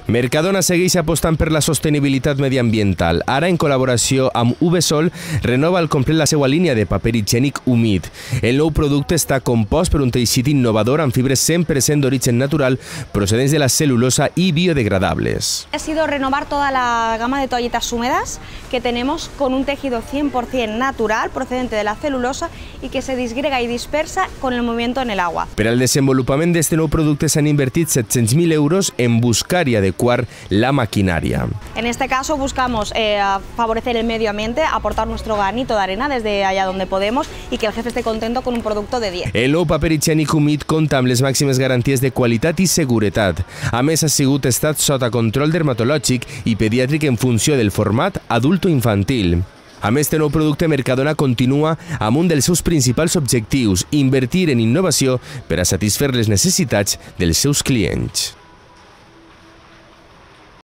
Mercadona segueix apostant per la sostenibilitat mediambiental. Ara, en col·laboració amb Uvesol, renova al complet la seva línia de paper higiènic humit. El nou producte està compost per un teixit innovador amb fibres 100% d'origen natural procedents de la celulosa y biodegradables. Ha sido renovar toda la gama de toallitas húmedas que tenemos con un tejido 100% natural procedente de la celulosa y que se disgrega y dispersa con el movimiento en el agua. Per al desenvolupament d'este nou producte s'han invertit 700.000 euros en buscar y adecuar la maquinaria. En este caso buscamos favorecer el medio ambiente, aportar nuestro granito de arena desde allá donde podemos y que el jefe esté contento con un producto de 10. El nou paper higiènic humit compta amb les màximes garanties de qualitat i seguretat. A més, ha sigut estat sota control dermatològic i pediàtric en funció del format adult o infantil. Amb este nou producte, Mercadona continua amb un dels seus principals objectius, invertir en innovació per a satisfer les necessitats dels seus clients.